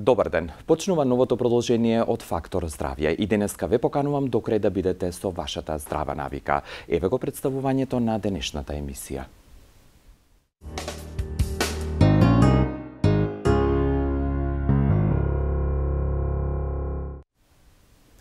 Добар ден. Почнува новото продолжение од Фактор здравје и денеска ве поканувам до крај да бидете со вашата здрава навика. Еве го представувањето на денешната емисија.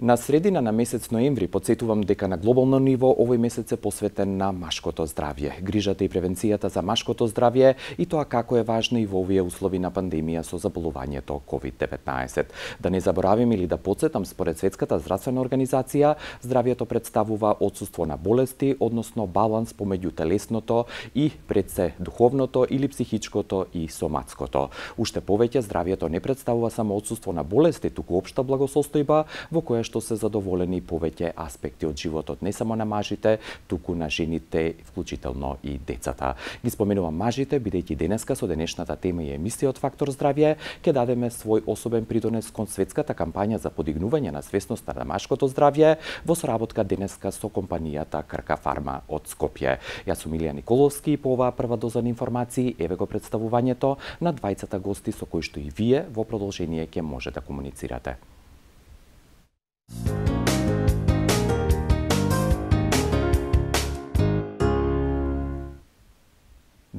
На средина на месец ноември потсетувам дека на глобално ниво овој месец е посветен на машкото здравје, грижата и превенцијата за машкото здравје и тоа како е важно и во овие услови на пандемија со заболувањето COVID-19. Да не заборавим или да потсетам, според Светската здравствена организација, здравјето представува отсуство на болести, односно баланс помеѓу телесното и пред се духовното или психичкото и соматското. Уште повеќе, здравјето не представува само отсуство на болести, туку општа благосостојба во која што се задоволени повеќе аспекти од животот, не само на мажите, туку на жените, вклучително и децата. Ги споменувам мажите, бидејќи денеска со денешната тема и емисија од Фактор здравје ќе дадеме свој особен придонес кон светската кампања за подигнување на свесноста на машкото здравје во соработка денеска со компанијата Крка Фарма од Скопје. Јас сум Илија Николовски и по оваа прва доза на информации еве го представувањето на двајцата гости со кои што и вие во продолжение ќе може да комуницирате.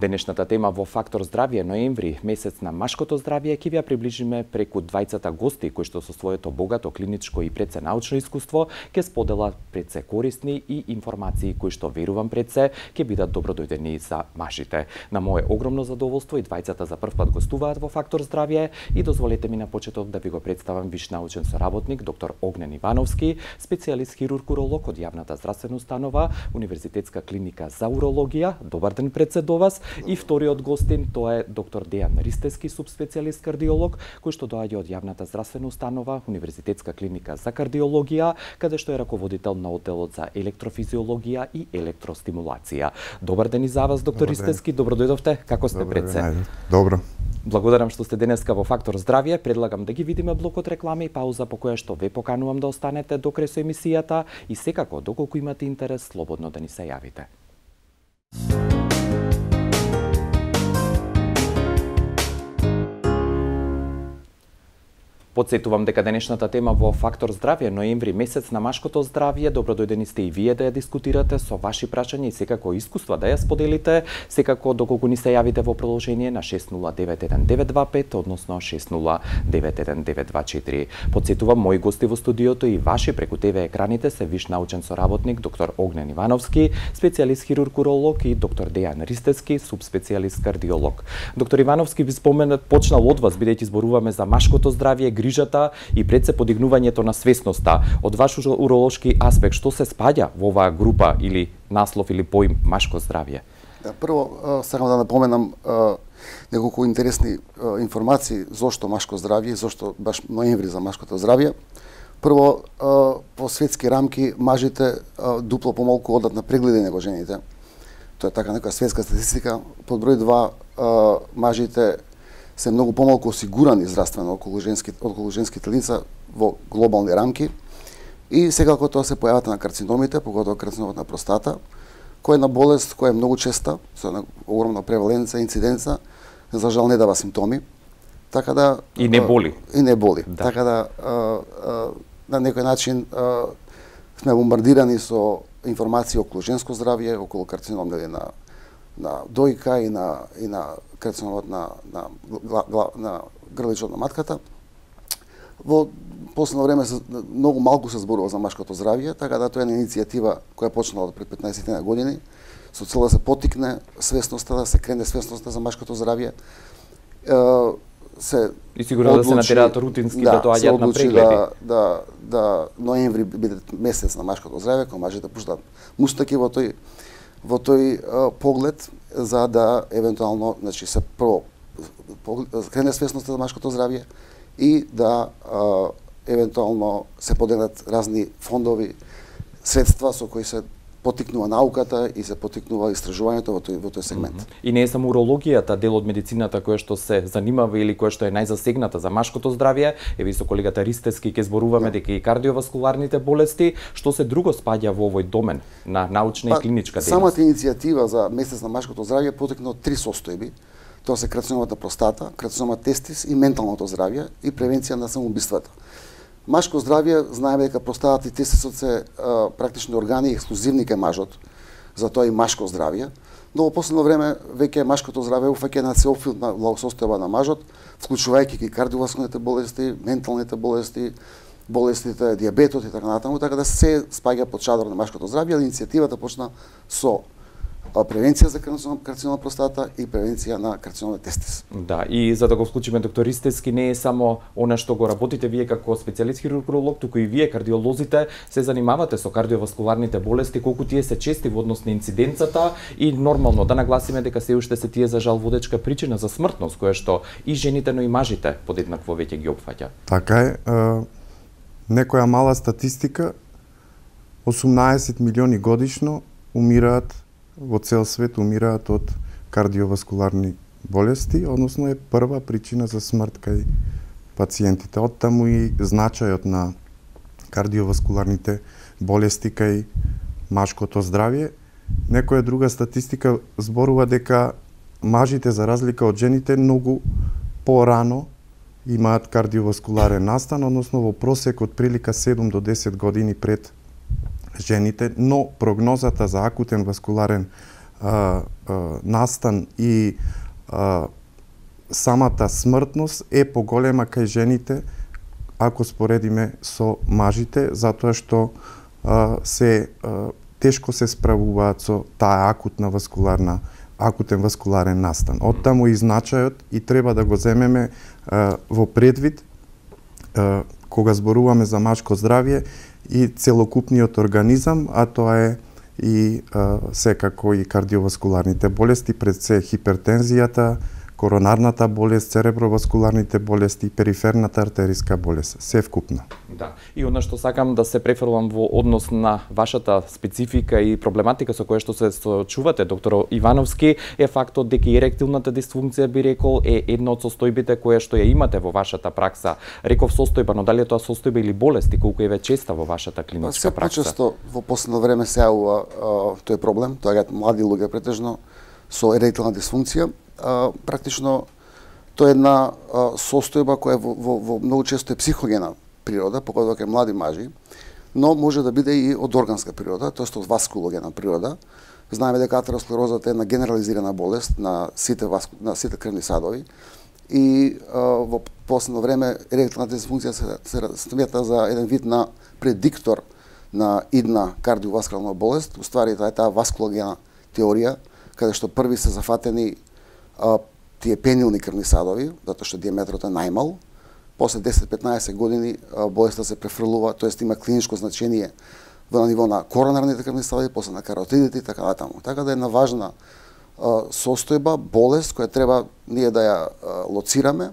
Денешната тема во Фактор здравје ноември, месец на машкото здравје, ќе ви ја приближиме преку двајцата гости кои што со своето богато клиничко и пред се научно искуство ќе споделат пред се корисни и информации кои што верувам пред се ќе бидат добродојдени за мажите. На мое огромно задоволство и двајцата за прв пат гостуваат во Фактор здравје и дозволете ми на почеток да ви го представам виш научен соработник доктор Огнен Ивановски, специјалист хирург-уролог од јавната здравствена установа Универзитетска клиника за урологија. Добар ден пред се до вас. И вториот гостин, тоа е доктор Дејан Ристевски, субспецијалист кардиолог, кој што доаѓа од јавната здравствена установа Универзитетска клиника за кардиологија, каде што е раководител на одделот за електрофизиологија и електростимулација. Добар ден и за вас, доктор Ристевски, добро дојдовте. Како сте пред се? Добро. Благодарам што сте денеска во Фактор здравје. Предлагам да ги видиме блокот реклами и пауза по која што ве поканувам да останете до крај со емисијата и секако, доколку имате интерес, слободно да ни се јавите. Потсетувам дека денешната тема во Фактор здравје ноември, месец на машкото здравје, добродојдени сте и вие да ја дискутирате со ваши прашања и секако искуства да ја споделите, секако доколку ни се јавите во продолжение на 6091-925, односно 6091-924. Потсетувам, мои гости во студиото и ваши преку ТВ екраните се виш научен соработник доктор Огнен Ивановски, специјалист хирург-уролог и доктор Дејан Ристевски, субспецијалист кардиолог. Доктор Ивановски, ви споменат почнал од вас, бидејќи зборуваме за машкото здравје, грижата и пред се подигнувањето на свесноста. Од ваш уролошки аспект, што се спаѓа во оваа група или наслов или поим машко здравје? Да, прво, сакам да напоменам неколку интересни информации зошто машко здравје, зошто баш ноември за машкото здравје. Прво, по светски рамки, мажите дупло помалку одат на прегледи него жените. Тоа е така некоја светска статистика. Под број 2, мажите се многу помалку осигурани здравствено околу женските лица во глобални рамки и секако тоа се појавата на карциномите, поготово карциномот на простата, која е на болест која е многу честа, со огромна преваленца, инциденца, за жал не дава симптоми. Така да и не боли. И не боли. Да. Така да на некој начин сме бомбардирани со информации околу женско здравје, околу карцином на дојка и на карциномот на грличот на матката. Во последно време многу малку се зборува за машкото здравје, така да тоа е иницијатива која почнала пред 15 години со цел да се поттикне свесноста, да се крене свесноста за машкото здравје. И сигурно да се натераат рутински да доаѓаат на прегледи. Да ноември биде месец на машкото здравје, кога мажите пуштат мустаки во тој поглед за да евентуално, значи се прво крене свесноста за машкото здравје и да евентуално се поделат разни фондови, средства со кои се поттикнува науката и се поттикнува истражувањето во тој сегмент. И не е само урологијата дел од медицината која што се занимава или која што е најзасегната за машкото здравје. Еве со колегата Ристевски ќе зборуваме дека и кардиоваскуларните болести, што се друго спаѓа во овој домен на научна и клиничка дејност. Самата иницијатива за месец на машкото здравје поттикна од три состојби. Тоа се карциномата простата, карцинома тестис и менталното здравје и превенција на самоубиствата. Машко здравје, знаеме дека простатата и тестисот се практично органи ексклузивни кај мажот, затоа и машко здравје. Но во последно време веќе машкото здравје уфаќа на целофилна состојба на мажот, вклучувајќи и кардиоваскуларните болести, менталните болести, болестите, дијабетот и така натаму, така да се спаѓа под шадор на машкото здравје, ali иницијативата почна со превенција за карцином простата и превенција на карцином тестис. Да, и за да го вклучиме доктор Ристевски, не е само она што го работите вие како специјалист хирург, туку и вие кардиолозите се занимавате со кардиоваскуларните болести, колку тие се чести во однос на инциденцата и нормално да нагласиме дека се уште се тие за жал водечка причина за смртност, која што и жените, но и мажите подеднакво веќе ги опфаќа. Така е, некоја мала статистика, 18 милиони годишно умираат во цел свет умираат од кардиоваскуларни болести, односно е прва причина за смрт кај пациентите. Оттаму и значајот на кардиоваскуларните болести кај машкото здравје. Некоја друга статистика зборува дека мажите, за разлика од жените, многу порано имаат кардиоваскуларен настан, односно во просек од прилика 7 до 10 години пред жените, но прогнозата за акутен васкуларен настан и самата смртност е поголема кај жените ако споредиме со мажите, затоа што тешко се справуваат со таа акутен васкуларен настан. Оттаму и значајот и треба да го земеме во предвид кога зборуваме за машко здравје и целокупниот организам, а тоа е и секако и кардиоваскуларните болести, пред се хипертензијата, коронарната болест, цереброваскуларните болести, периферната артериска болест, се вкупно. Да, и она што сакам да се префрлам во однос на вашата специфика и проблематика со која што се соочувате, доктор Ивановски, е фактот дека еректилната дисфункција, би рекол, е една од состојбите која што ја имате во вашата пракса. Реков состојба, но дали е тоа состојба или болести, колку е честа во вашата клиничка пракса? Се почесто во последно време се јавува тој проблем, тоа е млади луѓе претежно со еректилна дисфункција. Практично тоа е една состојба која во многу често е психогена природа, поготоа кај млади мажи, но може да биде и од органска природа, тоест од васкулогена природа. Знаеме дека атеросклерозата е една генерализирана болест на сите крвни садови и во последно време еректилната дисфункција се смета за еден вид на предиктор на идна кардиоваскуларна болест. Уствари тоа е таа васкулогена теорија, каде што први се зафатени тие пенилни крвни садови, затоа што диаметрот е најмал. После 10-15 години болеста се префрлува, тоест има клиничко значение на ниво на коронарните крвни садови, после на каротидите и така натаму. Така да е една важна состојба, болест која треба ние да ја лоцираме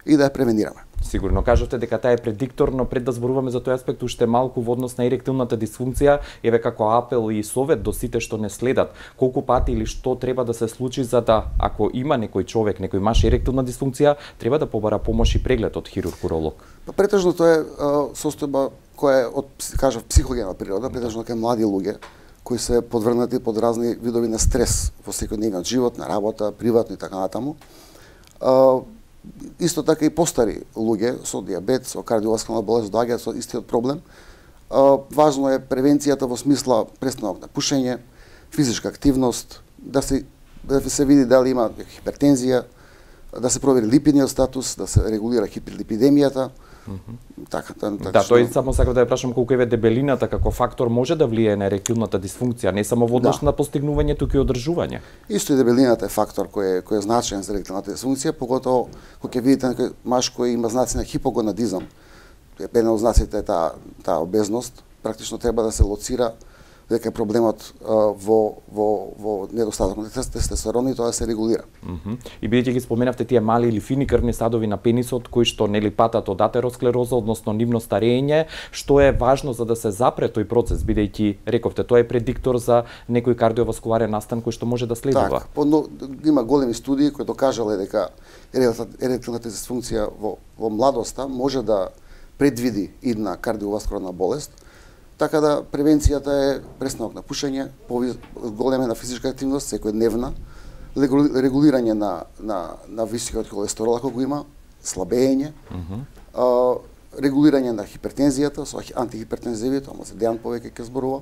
и да ја превенираме. Сигурно кажавте дека таа е предиктор, но пред да зборуваме за тој аспект уште малку во однос на еректилната дисфункција, еве како апел и совет до сите што не следат, колку пати или што треба да се случи за да, ако има некој човек, некој маж еректилна дисфункција, треба да побара помош и преглед од хирург-уролог? Претежно тоа е состојба која е од, кажав, психогена природа, претежно кај млади луѓе кои се подвргнати под разни видови на стрес во секојдневниот живот, на работа, приватно и така натаму. Исто така и постари луѓе со дијабет, со кардиоваскуларна болест доаѓаат со истиот проблем. Важно е превенцијата во смисла престанок на пушење, физичка активност, да се види дали има хипертензија, да се провери липидниот статус, да се регулира хиперлипидемијата. Така, да, тој само сакав да ја прашам колку еве дебелината како фактор може да влијае на еректилната дисфункција, не само во однос на постигнување, туку и одржување. Исто и дебелината е фактор кој е значаен за еректилната дисфункција, поготово кога ќе видите некој маж кој има знаци на хипогонадизам, еден од знаците е таа обезност, практично треба да се лоцира дека проблемот во недостаток на тестостерон и тоа се регулира. И бидејќи ги споменавте тие мали или фини крвни садови на пенисот кои што нели патат од атеросклероза, односно нивно старење, што е важно за да се запре тој процес, бидејќи рековте тоа е предиктор за некој кардиоваскуларен настан кој што може да следува. Има големи студии кои докажале дека еректилната дисфункција во младоста може да предвиди идна кардиоваскуларна болест. Така да превенцијата е престанок на пушење, големена физичка активност секојдневна, регулирање на високиот холестерол ако го има, слабење, регулирање на хипертензијата со антихипертензиви, тоа се Дејан повеќе ќе зборува.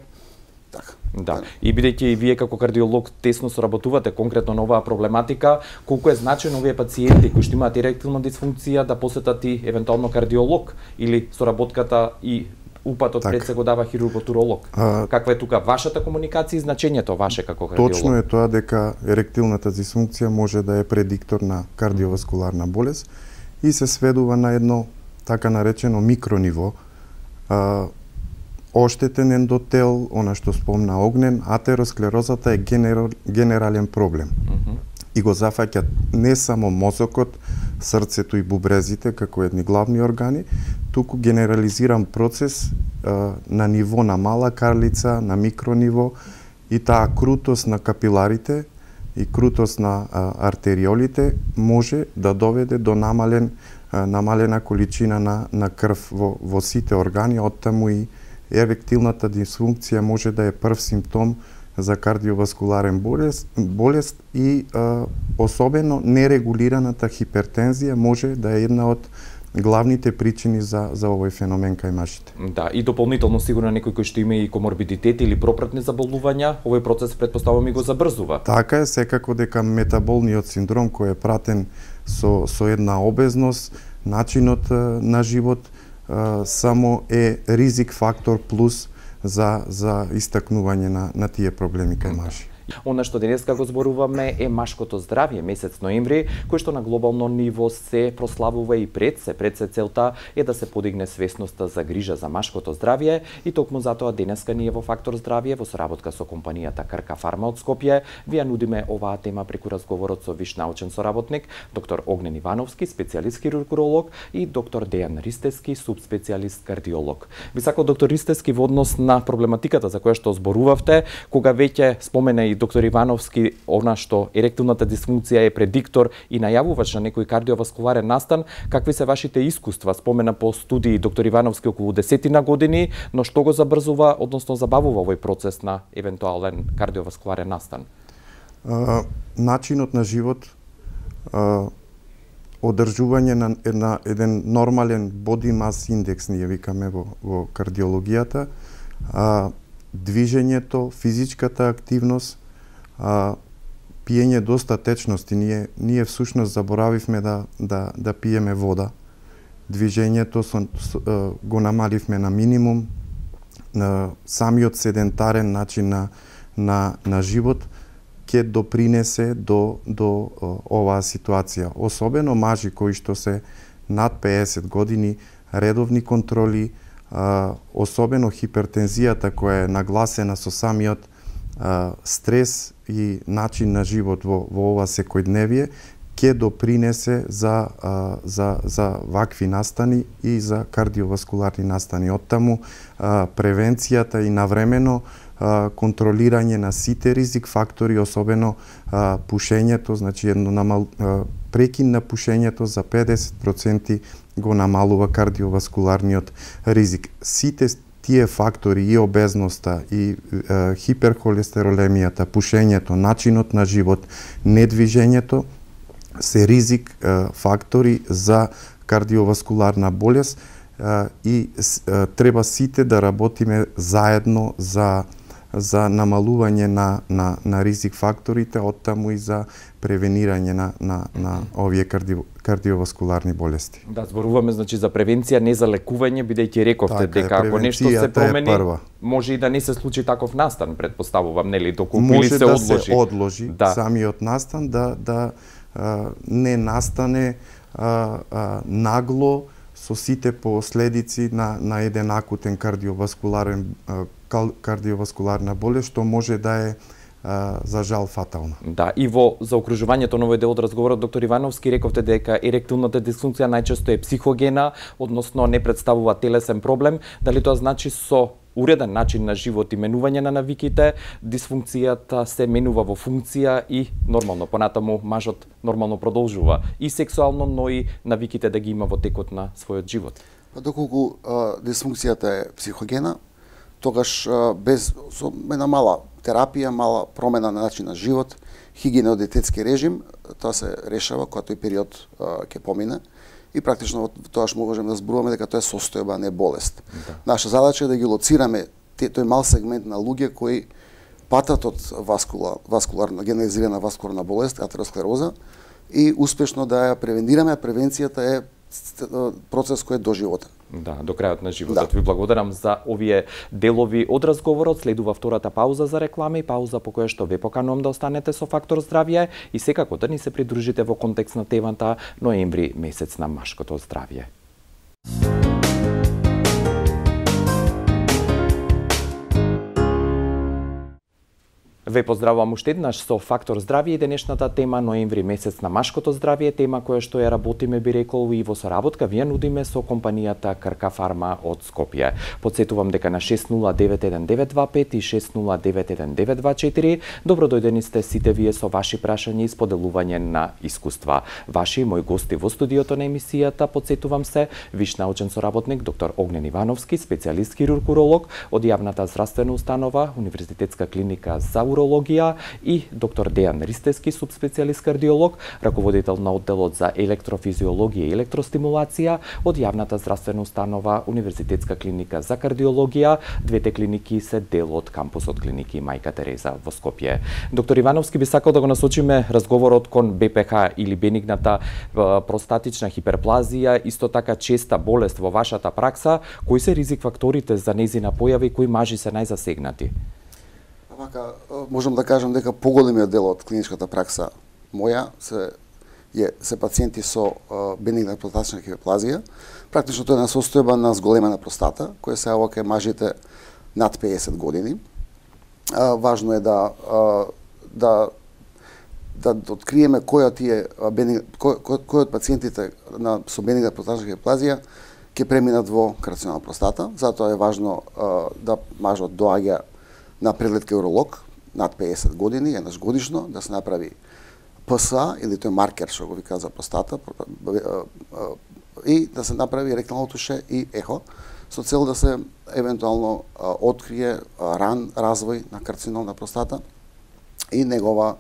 Така. Да. И бидејќи и вие како кардиолог тесно соработувате конкретно на оваа проблематика, колку е значено овие пациенти кои што имаат еректилна дисфункција да посетат и евентуално кардиолог или соработката и упатот пред се го дава хирургот-уролог? Каква е тука вашата комуникација и значењето ваше како кардиолог? Точно е тоа дека еректилната дисфункција може да е предиктор на кардиоваскуларна болест и се сведува на едно така наречено микрониво. Оштетен ендотел, она што спомна Огнен, атеросклерозата е генерален проблем. И го зафаќа не само мозокот, срцето и бубрезите како едни главни органи, туку генерализиран процес на ниво на мала карлица, на микрониво, и таа крутост на капиларите и крутост на артериолите може да доведе до намалена количина на крв во сите органи, оттаму и еректилната дисфункција може да е прв симптом за кардиоваскуларен болест и особено нерегулираната хипертензија може да е една од главните причини за овој феномен кај мажите. Да, и дополнително сигурно некој кој што има и коморбидитет или пропратни заболувања, овој процес претпоставувам и го забрзува. Така е, секако дека метаболниот синдром кој е пратен со една обезност, начинот на живот само е ризик фактор плюс за истакнување на тие проблеми кај мажи. Она што денеска го зборуваме е машкото здравје, месец ноември, кој што на глобално ниво се прославува и пред се целта е да се подигне свесноста за грижа за машкото здравје и токму затоа денеска ние во Фактор здравје во соработка со компанијата Крка Фарма од Скопје ви ја нудиме оваа тема преку разговорот со виш научен соработник, доктор Огнен Ивановски, специјалист хирург-уролог и доктор Дејан Ристевски, субспецијалист кардиолог. Би сакал доктор Ристевски во однос на проблематиката за која што зборувавте, кога веќе спомена и доктор Ивановски она што еректилната дисфункција е предиктор и најавувач на некој кардиоваскуларен настан, какви се вашите искуства? Спомена по студии доктор Ивановски околу 10 години, но што го забрзува, односно забавува овој процес на евентуален кардиоваскуларен настан? Начинот на живот, одржување на еден нормален body mass индекс, ние викаме во кардиологијата, движењето, физичката активност, пиење доста течности. Ние всушност заборавивме да пиеме вода. Движењето го намаливме на минимум. Самиот седентарен начин на живот ќе допринесе до оваа ситуација. Особено мажи кои што се над 50 години, редовни контроли, особено хипертензијата која е нагласена со самиот стрес и начин на живот во ова секојдневие, ќе допринесе за вакви настани и за кардиоваскуларни настани. Оттаму превенцијата и навремено контролирање на сите ризик фактори, особено пушењето, значи прекин на пушењето за 50% го намалува кардиоваскуларниот ризик. Сите тие фактори, и обезноста, и хиперхолестеролемијата, пушењето, начинот на живот, недвижењето, се ризик фактори за кардиоваскуларна болест и треба сите да работиме заедно за намалување на ризик факторите, оттаму и за превенирање на овие кардиоваскуларни болести. Да, зборуваме значи за превенција, не за лекување, бидејќи рековте дека ако нешто се промени, може и да не се случи таков настан, претпоставувам, нели, доколку или се одложи. Може да се одложи самиот настан, да не настане нагло со сите последици на еден акутен кардиоваскуларна болест, што може да е за жал фатална. Да, и во заокружувањето на овој дел од разговорот, доктор Ивановски, рековте дека еректилната дисфункција најчесто е психогена, односно не представува телесен проблем. Дали тоа значи со уреден начин на живот и менување на навиките, дисфункцијата се менува во функција и нормално, понатаму мажот нормално продолжува и сексуално, но и навиките да ги има во текот на својот живот? Доколку дисфункцијата е психогена, тогаш без со една мала терапија, мала промена на начин на живот хигиено-диететски режим, тоа се решава кога тој период ќе помине и практично тоаш можеме да зборуваме дека тоа е состојба, не болест. Да. Наша задача е да ги лоцираме тој мал сегмент на луѓе кои патат од васкуларна генерализирана васкуларна болест, атеросклероза, и успешно да ја превенираме. Превенцијата е процес кој е доживотен. Да, до крајот на животот. Да. Ви благодарам за овие делови од разговорот. Следува втората пауза за реклами, пауза по која што ве поканувам да останете со Фактор здравје и секако да ни се придружите во контекст на темата ноември, месец на машкото здравје. Ве поздравувам уште еднаш со Фактор здравје и денешната тема ноември месец на машкото здравје, тема која што ја работиме, би рекол, и во соработка вие нудиме со компанијата Крка Фарма од Скопје. Подсетувам дека на 609195 и 609194 добро дојдени сте сите вие со ваши прашања и споделување на искуства. Ваши мои гости во студиото на емисијата, подсетувам се, виш научен соработник доктор Огнен Ивановски, специјалист хирург-уролог од јавната здравствена установа Универзитетска клиника за урологија, и доктор Дејан Ристевски, субспецијалист кардиолог, раководител на одделот за електрофизиологија и електростимулација од јавната здравствена установа Универзитетска клиника за кардиологија. Двете клиники се дел од кампусот клиники Мајка Тереза во Скопје. Доктор Ивановски, би сакал да го насочиме разговорот кон БПХ или бенигната простатична хиперплазија, исто така честа болест во вашата пракса. Кои се ризик факторите за нејзина појава и кои мажи се најзасегнати? Вака, можам да кажам дека поголемиот дел од клиничката пракса моја се пациенти со бенигна простатична хиперплазија. Практично тоа е една состојба на зголемена простата, која се јавува кај мажите над 50 години. Важно е да откриеме кој од пациентите со бенигна простатична хиперплазија ќе преминат во карцинома простата. Затоа е важно да мажот доаѓа на преглед кај уролог над 50 години, еднаш годишно, да се направи ПСА или тој маркер што го вика за простата и да се направи ректално туше и ехо со цел да се евентуално открие ран развој на карцином на простата и негов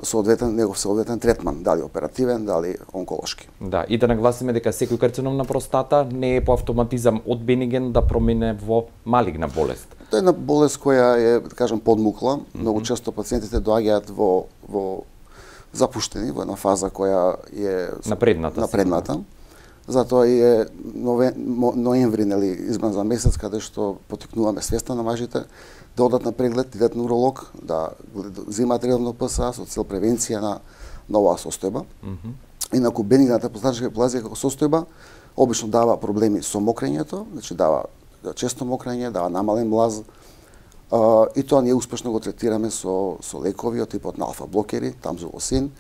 соодветен третман, дали оперативен, дали онколошки. Да, и да нагласиме дека секој карцином на простата не е по автоматизам од бениген да промине во малигна болест. Тоа е една болест која е, да кажам, подмукла. Многу често пациентите доаѓаат во запуштени, во една фаза која е напредната. Затоа и е ноември, избран за месец, каде што потикнуваме свеста на мажите да одат на преглед, идат на уролог, да земаат редовно ПСА со цел превенција на оваа состојба. Инаку бенигната простатична хиперплазија како состојба обично дава проблеми со мокрењето, значи дава често мокрење, дава намален млаз, и тоа ние успешно го третираме со лекови од типот на алфа-блокери, тамзулосин,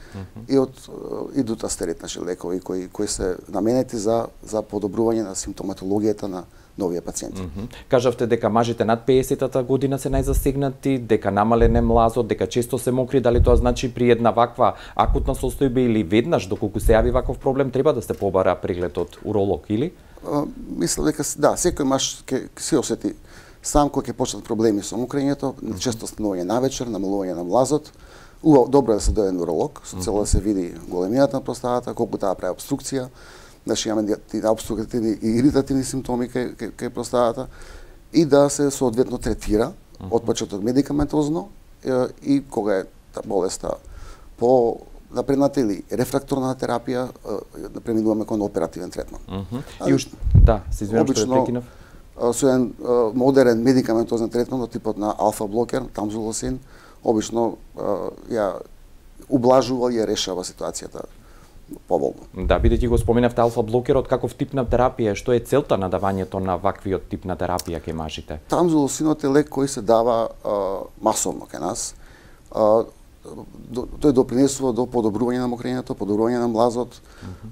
и дутастерит, значи лекови кои се наменети за подобрување на симптоматологијата на новите пациенти. Кажавте дека мажите над 50-та година се најзасегнати, дека намален е млазот, дека често се мокри, дали тоа значи при една ваква акутна состојба или веднаш доколку се јави ваков проблем треба да се побара преглед од уролог или? Мислам дека да, секој маж ќе се осети сам кој ќе почнат проблеми со мокрењето, често станување навечер, намалување на млазот. Добро е да се дојде на уролог, со цел да се види големината на простатата, колку таа прави обструкција, значи имаме обструктивни и иритативни симптоми кај простатата и да се соодветно третира отпочеток медикаментозно и кога е болеста по напредната или рефракторна терапија, да преминуваме кон оперативен третман. И уште, да, се извинувам што ве прекинав. Со еден модерен медикаментозен третман од типот на алфа-блокер, тамзулосин, обично ја ублажува и ја решава ситуацијата поволно. Да, бидејќи го споменавте алфа-блокерот, каков тип на терапија, што е целта на давањето на ваквиот тип на терапија кај мажите? Тамзулосинот е лек кој се дава масовно кај нас. Тој допринесува до подобрување на мокрењето, подобрување на млазот,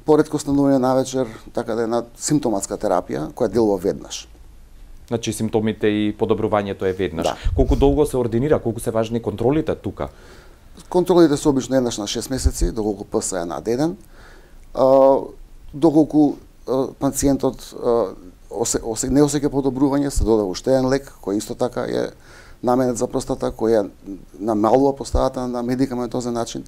поретко станување навечер, така да е една симптоматска терапија која делува веднаш. Значи симптомите и подобрувањето е веднаш. Да. Колку долго се ординира, колку се важни контролите тука? Контролите се обично еднаш на 6 месеци, доколку ПСА е над 1. Доколку пациентот не осеќа подобрување, се додава уште еден лек кој исто така е наменет за простата која намалува поставата на медикаментозен начин.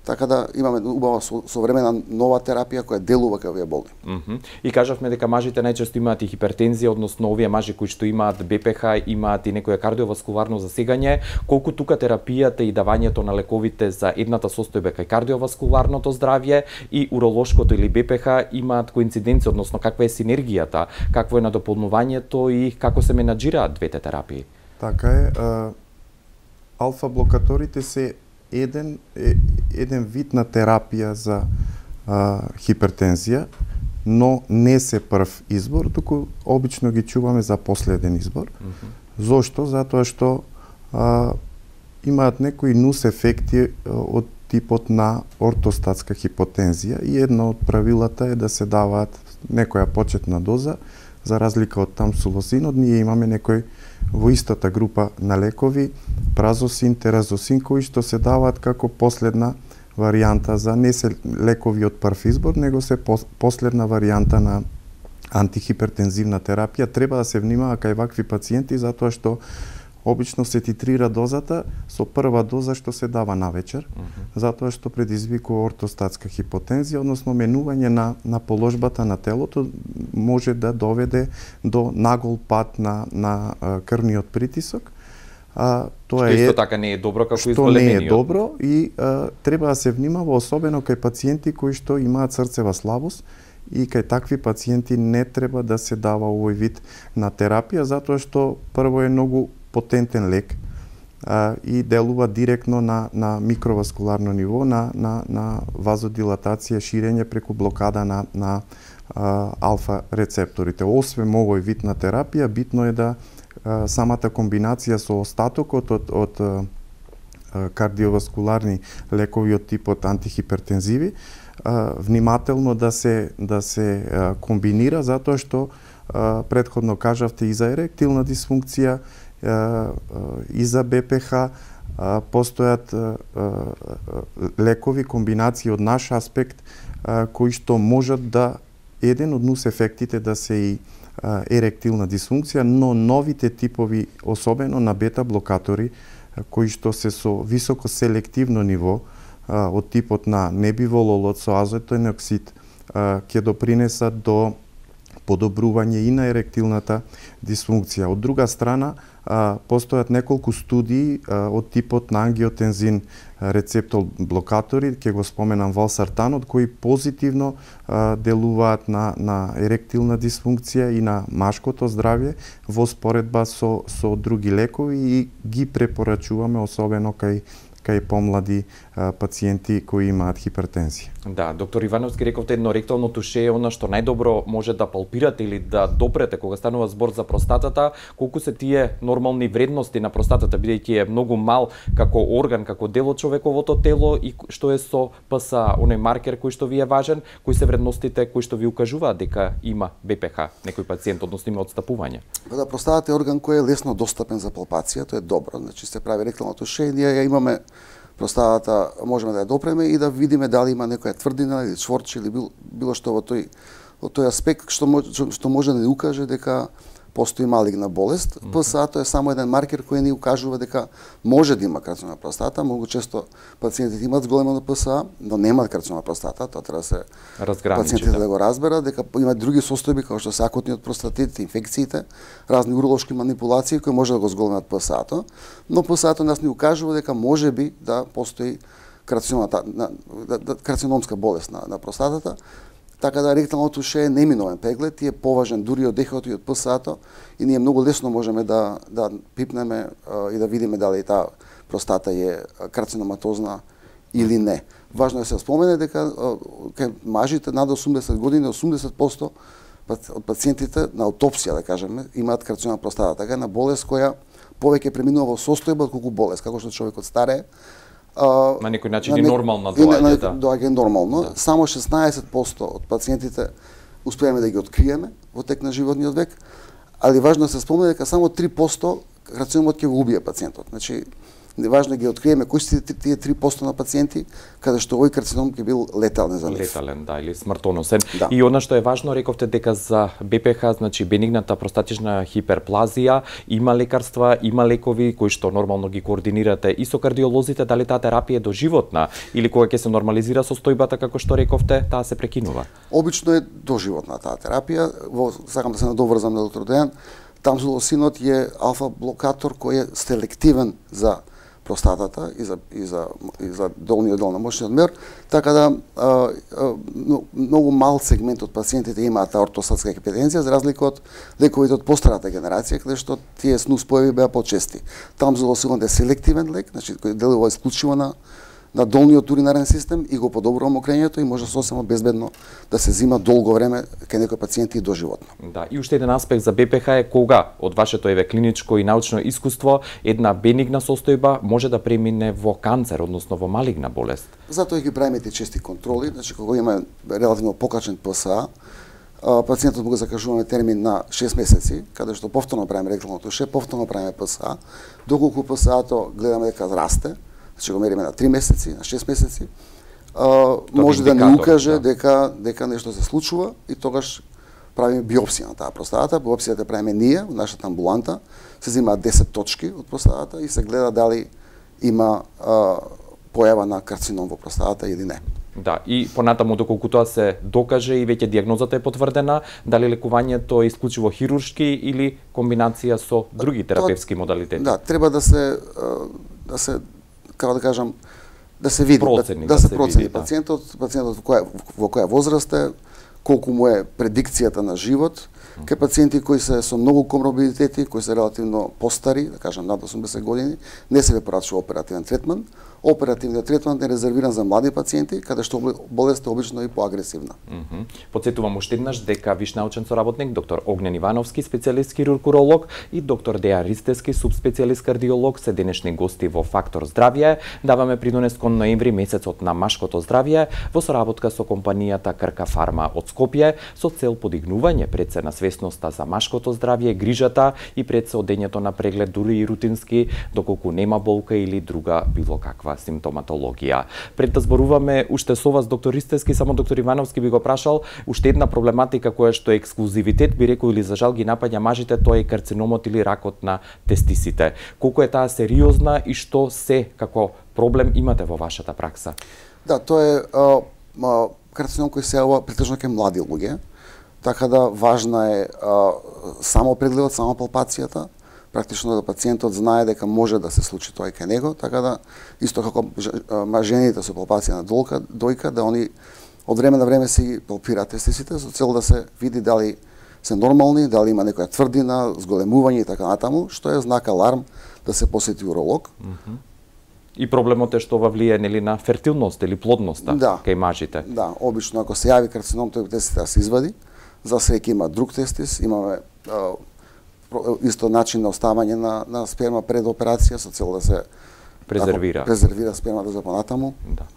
Така да имаме убава современа нова терапија која делува кај овие болни. И кажавме дека мажите најчесто имаат и хипертензија, односно овие мажи кои што имаат БПХ, имаат и некое кардиоваскуларно засегање. Колку тука терапијата и давањето на лековите за едната состојба кај кардиоваскуларното здравје и уролошкото или БПХ имаат коинциденција, односно каква е синергијата, какво е надополнувањето и како се менаџираат двете терапии? Така е, алфа блокаторите се еден вид на терапија за хипертензија, но не се прв избор, туку обично ги чуваме за последен избор. Зошто? Затоа што имаат некои нус ефекти од типот на ортостатска хипотензија и едно од правилата е да се даваат некоја почетна доза, за разлика од тамсулозинот, ние имаме некој во истата група на лекови, празосин, теразосин, кои што се даваат како последна варијанта за не се лекови од прв избор, него се последна варијанта на антихипертензивна терапија. Треба да се внимава кај вакви пациенти, затоа што обично се titrира дозата со прва доза што се дава навечер, затоа што предизвикува ортостатска хипотензија, односно менување на положбата на телото може да доведе до нагол пад на крвниот притисок. Тоа исто така не е добро како изголемениот. Што не е добро и треба да се внимава особено кај пациенти кои што имаат срцева слабост, и кај такви пациенти не треба да се дава овој вид на терапија, затоа што прво е многу потентен лек и делува директно на микроваскуларно ниво, на вазодилатација, ширење преку блокада на алфа рецепторите. Освен овој вид на терапија, битно е да самата комбинација со остатокот од кардиоваскуларни лекови од типот антихипертензиви внимателно да се комбинира, затоа што претходно кажавте и за еректилна дисфункција, и за БПХ постојат лекови, комбинации од наш аспект кои што можат да еден од нус ефектите да се и еректилна дисфункција, но новите типови, особено на бета блокатори, кои што се со високо селективно ниво од типот на небивололот со азотен оксид, ќе допринесат до подобрување и на еректилната дисфункција. Од друга страна, постојат неколку студии од типот на ангиотензин рецептор блокатори, ќе го споменам валсартанот, кои позитивно делуваат на еректилна дисфункција и на машкото здравје во споредба со други лекови и ги препорачуваме особено кај помлади пациенти кои имаат хипертензија. Да, доктор Ивановски, рековте едно ректално туше е она што најдобро може да палпирате или да допрете кога станува збор за простатата, колку се тие нормални вредности на простатата, бидејќи е многу мал како орган, како дел од човековото тело и што е со ПСА, оној маркер кој што ви е важен, кои се вредностите кои што ви укажуваат дека има БПХ некој пациент, односно има отстапување? Да, простатата е орган кој е лесно достапен за палпација, тоа е добро, значи се прави ректално туше, ние ја имаме простатата, можеме да ја допреме и да видиме дали има некоја тврдина или чворч или било што во тој аспект што може да ни укаже дека постои малигна болест. ПСА-то е само еден маркер кој ни укажува дека може да има карцинома на простата. Многу често пациентите имаат зголемено ПСА, но немаат карцинома на простата. Тоа треба да се пациентите да го разберат, дека има други состојби како што се акутниот простатит, инфекциите, разни уролошки манипулации кои може да го зголемат ПСА-то, но ПСА-то нас ни укажува дека можеби да постои карциномска болест на простатата. Така да ректалното туше е неминовен преглед и е поважен дури од ехото и од ПСА-то и ние многу лесно можеме да пипнеме и да видиме дали таа простата е карциноматозна или не. Важно е да се спомене дека кај мажите над 80 години 80% од пациентите на аутопсија, да кажеме, имаат карцинома на простата, така на болест која повеќе преминува во состојба отколку болест, како што човекот старее. На некој начин и нормално доаѓа, доаѓа нормално. Да. Само 16% од пациентите успеаме да ги откриеме во тек на животниот век, али важно да се спомне дека само 3% карциномот ќе го убие пациентот. Значи, Важно е ги откриеме кои се тие 3% на пациенти каде што овој карцином ќе бил летален за нив. Летален, да, или смртоносен. Да. И она што е важно, рековте дека за БПХ, значи бенигната простатична хиперплазија, има лекарства, има лекови кои што нормално ги координирате и со кардиолозите, дали таа терапија е доживотна или кога ќе се нормализира состојбата како што рековте, таа се прекинува? Обично е доживотна таа терапија. Сакам да се надоврзам на доктор Дејан. Тамзулосинот е алфа блокатор кој е селективен за простатата и за долниот дел на мошниот мер, така да многу мал сегмент од пациентите имаат ортостатска хипертензија, за разлика од лековите од постарата генерација, каде што тие снус појави беа почести. Тамзулосинот е селективен лек, значи кој делува исклучиво на долниот уринарен систем и го подобрува мокрењето и може сосема безбедно да се зима долго време кај некои пациенти и доживотно. Да, и уште еден аспект за БПХ е кога од вашето клиничко и научно искуство една бенигна состојба може да премине во канцер, односно во малигна болест. Затоа ги правиме тие чести контроли, значи кога има релативно покачен ПСА, пациентот му го закажуваме термин на 6 месеци, каде што повторно правиме ректално туше, повторно правиме ПСА, доколку ПСА-то гледаме дека расте, значи го мериме на 3 месеци, на 6 месеци, може да ни укаже дека нешто се случува и тогаш правиме биопсија на таа простатата. Биопсијата правиме ние, во нашата амбуланта, се земаат 10 точки од простатата и се гледа дали има појава на карцином во простатата или не. Да, и понатаму доколку тоа се докаже и веќе дијагнозата е потврдена, дали лекувањето е исклучиво хируршки или комбинација со други терапевски модалитети? Да, треба да се како да кажам, да се види, да се процени пациентот во која возраст е, колку му е предикцијата на живот. Кај пациенти кои се со многу коморбидитети, кои се релативно постари, да кажам над 80 години, не се препорачува оперативен третман. Оперативниот третман е резервиран за млади пациенти, каде што болеста обично е поагресивна. Потсетувам уште еднаш дека виш научен соработник доктор Огнен Ивановски, специјалист хирург-уролог, и доктор Дејан Ристевски, субспецијалист кардиолог, се денешни гости во Фактор здравје. Даваме придонес кон ноември, месецот на машкото здравје, во соработка со компанијата Крка Фарма од Скопје, со цел подигнување пред се на свесноста за машкото здравје, грижата и пред се одењето на преглед, дури и рутински, доколку нема болка или друга било каква симптоматологија. Пред да зборуваме уште со вас, доктор Ристевски, само доктор Ивановски би го прашал, уште една проблематика која што е ексклузивитет, би рекол, или за жал ги напаѓа мажите, тоа е карциномот или ракот на тестисите. Колку е таа сериозна и што се како проблем имате во вашата пракса? Да, тоа е карцином кој се јавува претежно кај млади луѓе, така да важна е само прегледот, само палпацијата, практично да пациентот знае дека може да се случи тоа кај него, така да исто како жените со палпација на дојка, да они од време на време си палпираат тестисите со цел да се види дали се нормални, дали има некоја тврдина, зголемување и така натаму, што е знак аларм да се посети уролог. И проблемот е што ова влие нели на фертилност или плодноста кај мажите. Да, обично ако се јави карцином, тој тестис да се извади. За среќа има друг тестис, имаме исто начин на оставање на сперма пред операција со цел да се презервира спермата за понатаму. Да.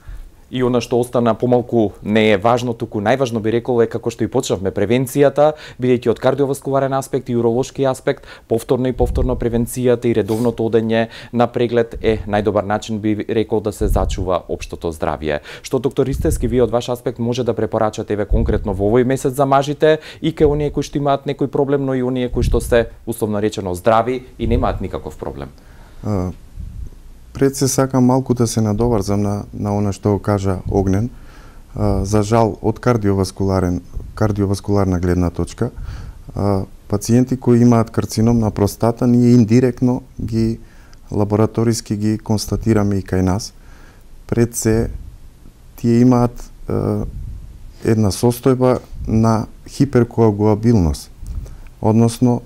И она што остана помалку не е важно, туку најважно би рекол е како што и почнавме превенцијата, бидејќи од кардиоваскуларен аспект и уролошки аспект, повторно превенцијата и редовното одење на преглед е најдобар начин би рекол да се зачува општото здравје. Што доктор Ристевски, вие од ваш аспект може да препорачате конкретно во овој месец за мажите и кај оние кои што имаат некој проблем, но и оние кои што се условно речено здрави и немаат никаков проблем? Пред се сакам малку да се надоврзам на она што го кажа Огнен. За жал, од кардиоваскуларна гледна точка, пациенти кои имаат карцином на простата, ние индиректно ги лабораториски ги констатираме и кај нас. Пред се, тие имаат една состојба на хиперкоагулабилност, односно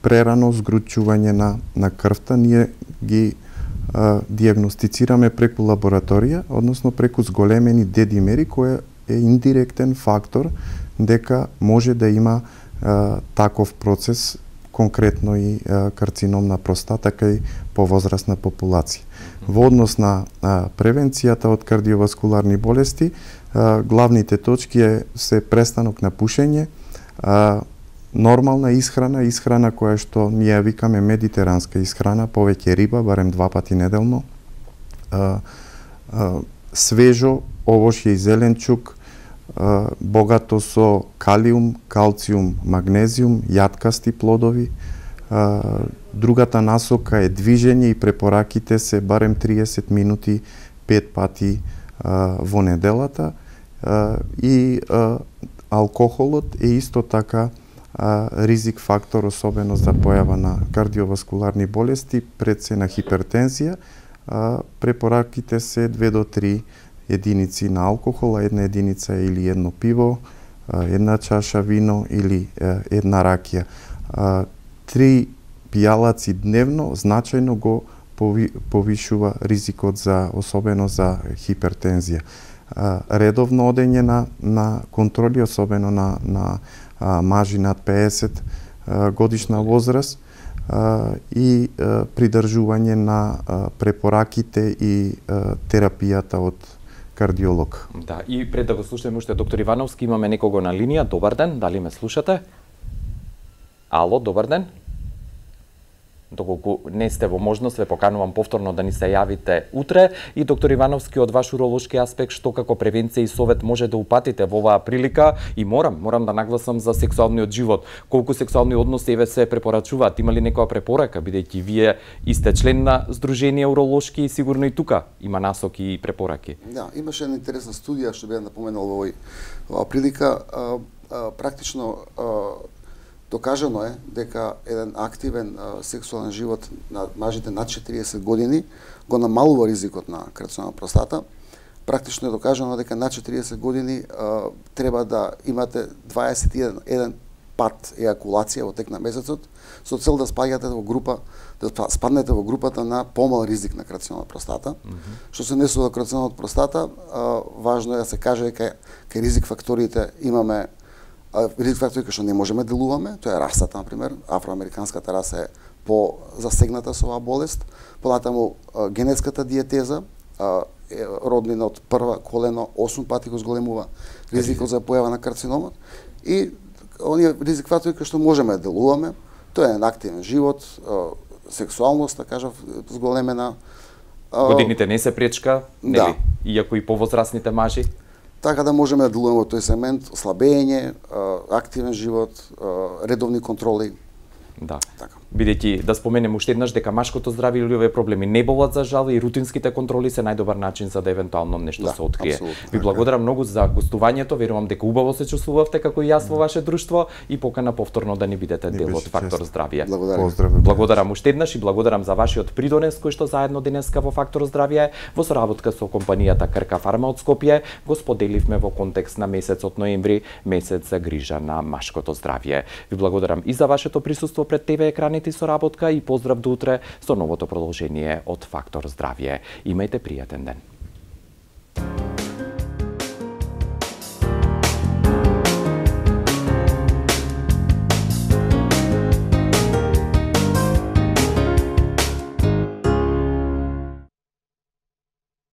прерано згручување на крвта. Ние ги дијагностицираме преку лабораторија, односно преку зголемени дедимери, кој е индиректен фактор дека може да има таков процес, конкретно и карцином на простата кај повозрастна популација. Во однос на превенцијата од кардиоваскуларни болести, главните точки се престанок на пушење, нормална исхрана која што ние викаме медитеранска исхрана, повеќе риба, барем 2 пати неделно, свежо овошје и зеленчук, богато со калиум, калциум, магнезиум, јаткасти плодови. Другата насока е движење и препораките се барем 30 минути 5 пати во неделата, и алкохолот е исто така ризик фактор, особено за појава на кардиоваскуларни болести, пред се на хипертензија. Препораките се 2 до 3 единици на алкохол, 1 единица или 1 пиво, 1 чаша вино или 1 ракија. 3 пијалаци дневно значајно го повишува ризикот особено за хипертензија. Редовно одење на контроли, особено на мажи над 50 годишна возраст, и придржување на препораките и терапијата од кардиолог. Да, и пред да го слушаме уште доктор Ивановски, имаме некого на линија. Добар ден, дали ме слушате? Ало, добар ден. Доколку не сте во можност, ве поканувам повторно да ни се јавите утре. И доктор Ивановски, од ваш уролошки аспект, што како превенција и совет може да упатите во оваа прилика? И морам да нагласам за сексуалниот живот. Колку сексуални односи еве се препорачуваат? Има ли некоја препорака, бидејќи вие сте член на Сдружение уролошки и сигурно и тука има насоки и препораки? Да, имаше една интересна студија што беа напоменал во оваа прилика. Практично докажано е дека еден активен сексуален живот на мажите над 40 години го намалува ризикот на карцином на простата. Практично е докажано дека над 40 години треба да имате 21 пат ејакулација во тек на месецот, со цел да спаѓате во група, да спаднете во групата на помал ризик на карцином на простата. Што се однесува до карцином на простата, важно е да се каже дека кај ризик факторите имаме ризик фактори кои што не можеме да делуваме, тоа е расата, например, афроамериканската раса е по-засегната со оваа болест, понатаму генетската диетеза, роднина од прва колено 8 пати го зголемува ризикот за појава на карциномот, и оние ризик фактори кои што можеме да делуваме, тоа е активен живот, сексуалност, да кажав, зголемена. Годините не се пречка, нели? Да. Иако и повозрастните мажи. Така да можеме да делуваме во тој сегмент, слабење, активен живот, редовни контроли. Да. Така. Бидејќи да споменем уште еднаш дека машкото здравје или овие проблеми не болат за жал, и рутинските контроли се најдобар начин за да евентуално нешто се открие. Ви благодарам многу за гостувањето, верувам дека убаво се чувствувавте како и јас во ваше друштво, и покана повторно да ни бидете дел од Фактор здравје. Благодарам уште еднаш и благодарам за вашиот придонес кој што заедно денеска во Фактор здравје во соработка со компанијата Крка Фарма од Скопје го споделивме во контекст на месецот ноември, месец за грижа на машкото здравје. Ви благодарам и за вашето присуство пред ТВ екраните и соработка, и поздрав до утре со новото продолжение од Фактор здравје. Имајте пријатен ден.